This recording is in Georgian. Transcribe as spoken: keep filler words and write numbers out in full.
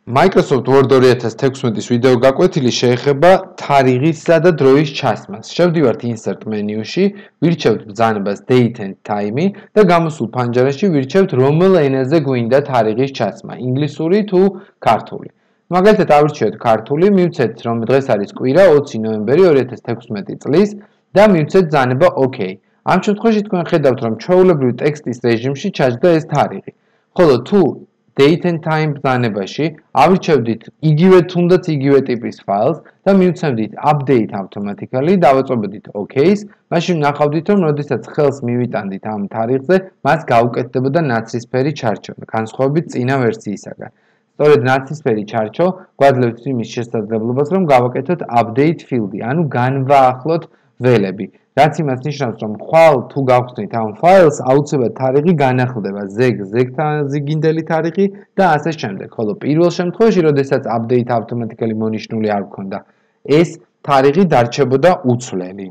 Microsoft Word ორი ათას თექვსმეტის ვიდეო გაკვეთილი შეეხება თარიღისა და დროის ჩასმას. შევდივართ Insert მენიუში, ვირჩევთ ბრძანებას Date and Time და გამოსულ ფანჯარაში ვირჩევთ რომელ ენაზე გვინდა თარიღის ჩასმა, ინგლისური თუ ქართული. მაგალითად ავირჩიოთ ქართული, მივცეთ რომ დღეს არის კვირა ოცი ნოემბერი ორი ათას თექვსმეტი წლის და მივცეთ ბრძანება OK. ამ შემთხვევაში თქვენ ხედავთ რომ ჩვეულებრივ ტექსტის რეჟიმში ჩაჯდა ეს თარიღი. ხოლო თუ Date and Time ბრძანებაში ავირჩევდით იგივე თუნდაც იგივე ტიპის ფაილს და მივცემდით Update automatically და დავაწობდით OK-ს, მაშინ ნახავდით რომ როდესაც ხელს მივიტანდით ამ თარიღზე, მას გაუკეთდებოდა ნაცრისფერი ჩარჩო, განსხვავებით წინა ვერსიისაგან. სწორედ ნაცრისფერი ჩარჩო გვაძლევს იმის შესაძლებლობას, რომ გავაკეთოთ Update field-ი, ანუ განვაახლოთ ველები. რაც იმას ნიშნავს, რომ ხვალ თუ გავხსნით ამ ფაილს, აუცილებლად თარიღი განახლდება ზეგ ზეგთაზიგინდელი თარიღი და ასე შემდეგ. ხოლო პირველ შემთხვევაში, როდესაც Update automatically მონიშნული არ გქონდა, ეს თარიღი დარჩებოდა უცვლელი.